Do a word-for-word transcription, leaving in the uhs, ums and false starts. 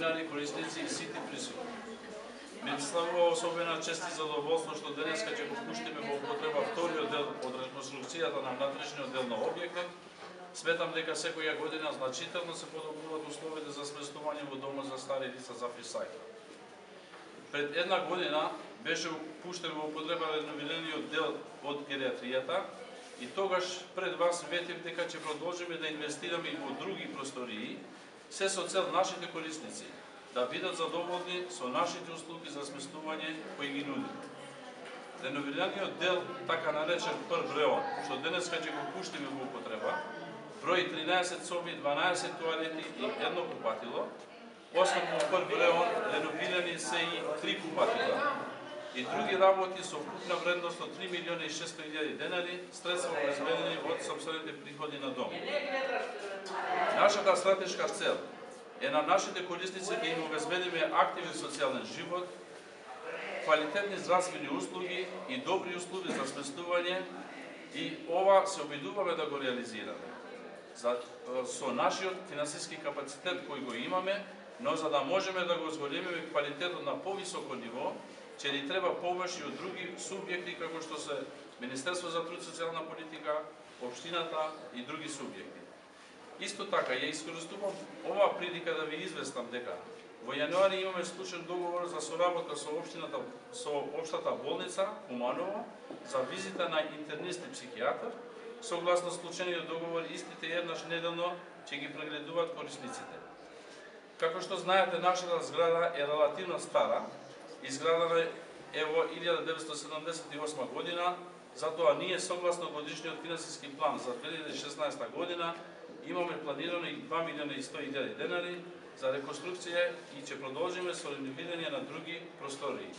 новинари, корисници и сите присутни. Ми представува особена чест и задоволство што денеска ќе го пуштиме во употреба вториот дел од реконструкцијата на внатрешниот дел на објектот. Сметам дека секоја година значително се подобруваат условите за сместување во домот за стари лица за Фрисајка. Пред една година беше пуштен во употреба реновираниот дел од гериатријата и тогаш пред вас ветив дека ќе продолжиме да инвестираме и во други простории, се со цел нашите корисници да бидат задоволни со нашите услуги за сместување кои ги нудиме. Реновираниот дел, така наречен прв реон, што денеска ќе го пуштиме во употреба, брои тринаесет соби, дванаесет тоалети и едно купатило. Освен во прв реон, реновирани се и три купатила и други работи со вкупна вредност од три милиони и шестстотини илјади денари, средства обезбедени од сопствените приходи на дом. Нашата стратешка цел е на нашите корисници да им обезбедиме активен социјален живот, квалитетни здравствени услуги и добри услови за сместување, и ова се обидуваме да го реализираме. За, со нашиот финансиски капацитет кој го имаме, но за да можеме да го зголемиме квалитетот на повисоко ниво, ќе ни треба помош и од други субјекти како што се Министерство за труд и социјална политика, општината и други субјекти. Исто така, ја искористувам оваа прилика да ви известам дека во јануари имаме склучен договор за соработка со општината, со општата болница Куманово за визита на интернист и психијатар. Согласно склучениот договор, истите еднаш неделно ќе ги прегледуваат корисниците. Како што знаете, нашата зграда е релативно стара, изградена е во илјада деветстотини седумдесет и осма година, затоа ние согласно годишниот финансиски план за две илјади и шеснаесета година имаме планирано и два милиона и сто илјади денари за реконструкција и ќе продолжиме со реновирање на други простории.